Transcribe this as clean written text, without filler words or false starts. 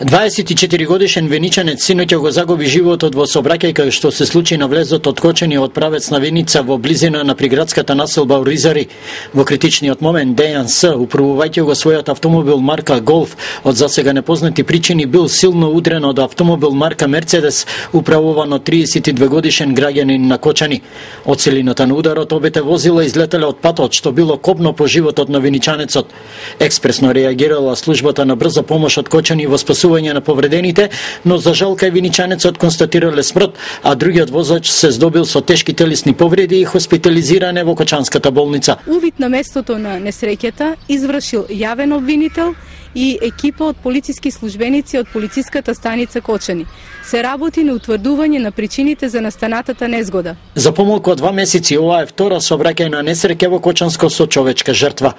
24 годишен веничанец синоќа го загуби животот во сообраќај кај што се случи на влезот од Кочани од правец на Виница во близина на приградската населба Оризари. Во критичниот момент Дејан С, управувајќи го својот автомобил марка Голф, од засега непознати причини бил силно удрен од автомобил марка Мерцедес, управуван од 32 годишен граѓанин на Кочани. Од силината на ударот обете возила излетеле од патот, што било копно по животот на виничанецот. Експресно реагирала службата на брза помош од Кочани во спасување на повредените, но за жал кај виничанецот констатирале смрт, а другиот возач се здобил со тешки телесни повреди и хоспитализиране во Кочанската болница. Увид на местото на несреќата извршил јавен обвинител и екипа од полициски службеници од полициската станица Кочани. Се работи на утврдување на причините за настанатата незгода. За помалку од 2 месеци ова е втора сообраќајна несреќа во Кочанско со човечка жртва.